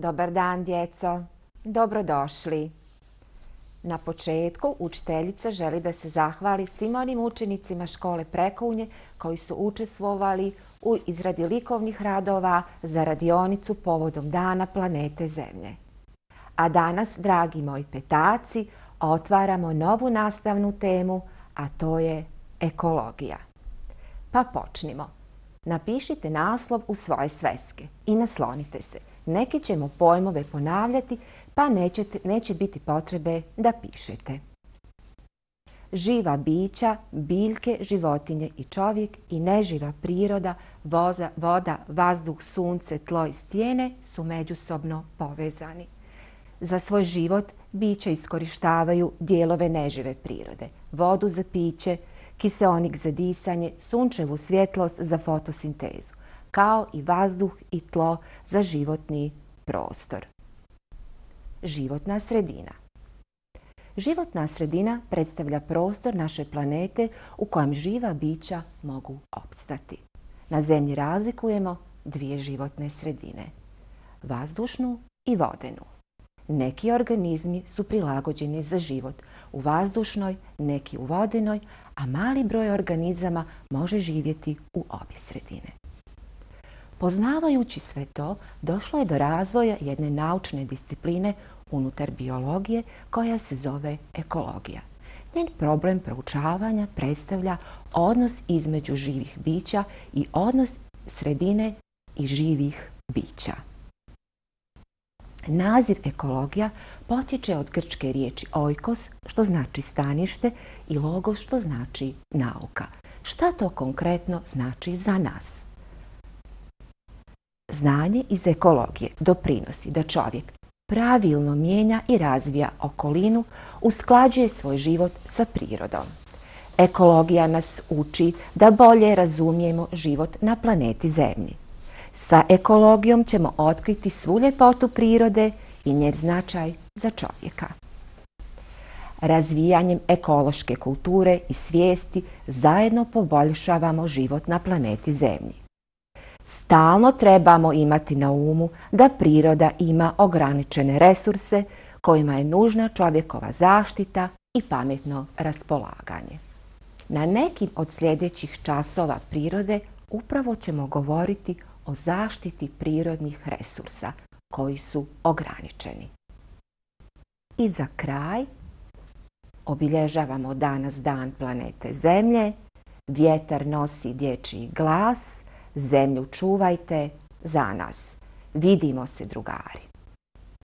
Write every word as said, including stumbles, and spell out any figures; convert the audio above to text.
Dobar dan, djeco. Dobrodošli. Na početku učiteljica želi da se zahvali svim onim učenicima škole Prekounje koji su učestvovali u izradi likovnih radova za radionicu povodom Dana planete Zemlje. A danas, dragi moji petaci, otvaramo novu nastavnu temu, a to je ekologija. Pa počnimo. Napišite naslov u svoje sveske i naslonite se. Neki ćemo pojmove ponavljati, pa nećete, neće biti potrebe da pišete. Živa bića, biljke, životinje i čovjek i neživa priroda, voza, voda, vazduh, sunce, tlo i stijene su međusobno povezani. Za svoj život bića iskorištavaju dijelove nežive prirode, vodu za piće, kiseonik za disanje, sunčevu svjetlost za fotosintezu, kao i vazduh i tlo za životni prostor. Životna sredina. Životna sredina predstavlja prostor naše planete u kojem živa bića mogu opstati. Na Zemlji razlikujemo dvije životne sredine, vazdušnu i vodenu. Neki organizmi su prilagođeni za život u vazdušnoj, neki u vodenoj, a mali broj organizama može živjeti u obje sredine. Poznavajući sve to, došlo je do razvoja jedne naučne discipline unutar biologije koja se zove ekologija. Njen problem proučavanja predstavlja odnos između živih bića i odnos sredine i živih bića. Naziv ekologija potječe od grčke riječi oikos, što znači stanište, i logos, što znači nauka. Šta to konkretno znači za nas? Znanje iz ekologije doprinosi da čovjek pravilno mijenja i razvija okolinu, usklađuje svoj život sa prirodom. Ekologija nas uči da bolje razumijemo život na planeti Zemlji. Sa ekologijom ćemo otkriti svu ljepotu prirode i njen značaj za čovjeka. Razvijanjem ekološke kulture i svijesti zajedno poboljšavamo život na planeti Zemlji. Stalno trebamo imati na umu da priroda ima ograničene resurse kojima je nužna čovjekova zaštita i pametno raspolaganje. Na nekim od sljedećih časova prirode upravo ćemo govoriti o zaštiti prirodnih resursa koji su ograničeni. I za kraj obilježavamo danas Dan planete Zemlje, vjetar nosi dječji glas, zemlju čuvajte za nas. Vidimo se, drugari.